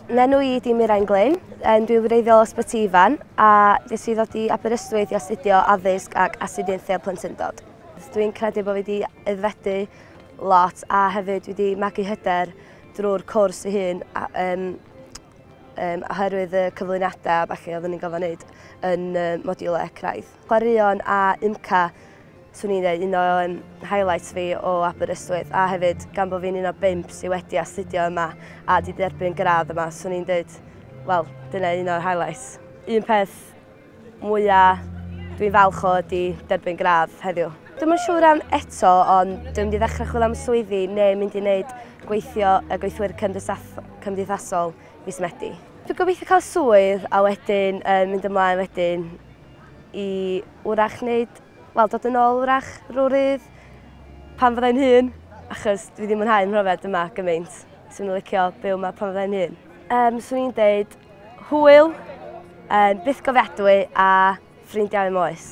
N'enw i 'di Mirain Glyn, dwi'n wreiddiol o Ysbyty Ifan a nes i ddod i Aberystwyth i astudio addysg ac astudiaethau plentyndod. Dwi'n credu bod fi wedi aeddfedu lot a hefyd dwi wedi magu hyder drwy'r cwrs ei hun a, oherwydd y cyflwyniadau a ballu oeddwn ni'n gofyn wneud yn modiwlau craidd. Chwaraeon a UMCA, swn i'n dweud, un o highlights fi o Aberystwyth, a hefyd gan bod fi'n un o 5 sydd wedi astudio yma a wedi derbyn gradd yma, swn i'n dweud, wel, dyna un o'r highlights. Un peth mwyaf dwi'n falch o ydy derbyn gradd heddiw. Dwi'm yn siŵr am eto, ond dwi'n mynd i ddechrau chwilio am swyddi neu mynd i wneud gweithio y gweithwyr cymdeithasol mis Medi. Dwi'n gobeithio cael swydd a wedyn mynd ymlaen wedyn i wrach wneud, wel, dod yn ôl wrach rhywryd pan fyddai'n hŷn, achos dwi ddim mwynhau mhrofiad yma gymaint. Swn i'n licio byw yma pan fyddai'n hŷn. Swn i'n deud hwyl, byth gofiadwy a ffrindiau am oes.